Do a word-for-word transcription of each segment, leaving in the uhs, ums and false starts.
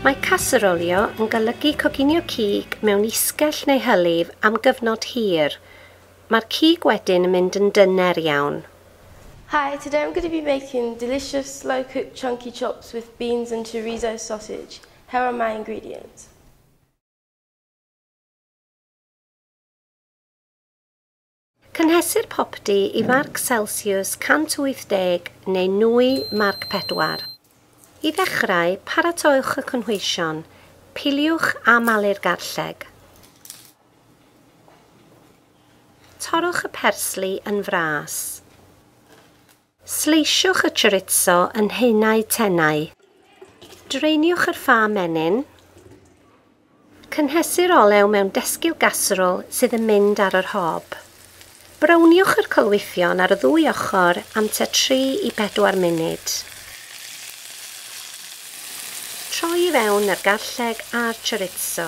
Mae caserolio yn golygu coginio cig mewn isgell neu hylif am gyfnod hir. Mae'r cig wedyn yn mynd yn dyner iawn. Hi, today I'm going to be making delicious slow-cooked chunky chops with beans and chorizo sausage. Here are my ingredients. Cynhesir popty i farc Celsius cant wyth deg neu nwy marc pedwar. I ddechrau, paratowch y cynhwysion, piliwch a malu'r garlleg. Torrwch y persli yn fras. Sleisiwch y chorizo yn haenau tenau. Dreiniwch yr ffa menyn. Cynhesir olew mewn desgil gasrol sydd yn mynd ar yr hob. Browniwch yr colwythion ar y ddwy ochr am tua tri i bedwar munud. Troi i fewn yr garlleg a'r chorizo.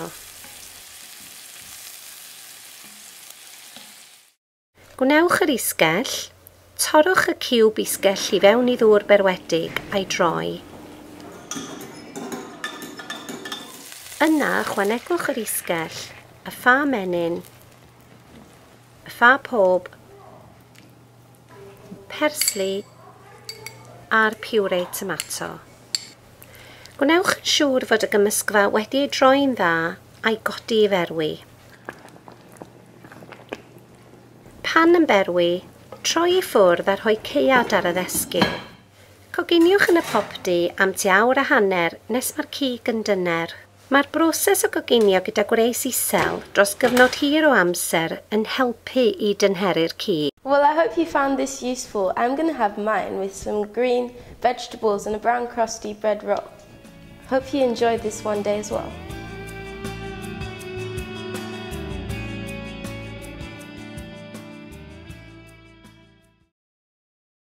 Gwnewch yr isgell, torrwch y ciwb isgell i fewn i ddŵr berwedig a'i droi. Yna ychwanegwch yr isgell, y ffa menyn, y ffa pob, persli a'r puree tomato. Gwnewch yn siŵr fod y gymysgfa wedi ei droi'n dda a'i godi i ferwi. Pan yn berwi, troi i ffwrdd a rhoi caead ar y ddesgyl. Coginiwch yn y popty am tua awr a hanner nes mae'r cig yn dyner. Mae'r broses o goginio gyda gwres isel dros gyfnod hir o amser yn helpu i dynheru'r cig. Well, I hope you found this useful. I'm going to have mine with some green vegetables and a brown crusty bread roll. Hope you enjoyed this one day as well.